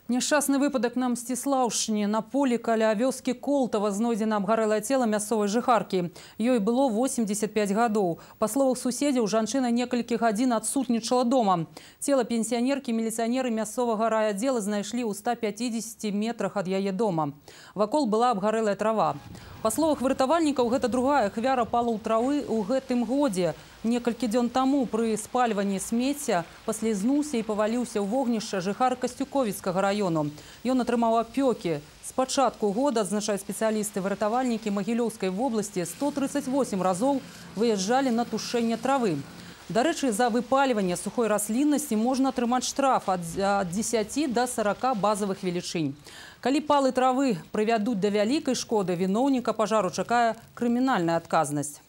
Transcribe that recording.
Няшчасны выпадак на Мсціслаўшчыне. На полі каля вёскі Колтава знойдзена абгарэлае цела мясцовай жыхаркі. Ёй было 85 гадоў. Па словах суседзяў, жанчына некалькі гадзін адсутнічала дома. Цела пенсіянеркі міліцыянеры мясцовага райаддзела знайшлі ў 150 метрах ад яе дома. Вакол была абгарэлая трава. Па словах выратавальнікаў, гэта другая ахвяра палоў травы ў гэтым годзе. Некалькі дзён таму пры спальванні смецця паслізнуўся і паваліўся ў вогнішча жыхар Касцюковіцкага раёну. Ён атрымаў апёкі. З пачатку года, адзначаюць спецыялісты, выратавальнікі Магілёўскай вобласці 138 разоў выязджалі на тушэнне травы. Дарэчы, за выпальванне сухой расліннасці можна атрымаць штраф ад 10 до 40 базавых велічынь. Калі палы травы прывядуць да вялікай шкоды, віноўніка пажару чакае крымінальная адказнасць.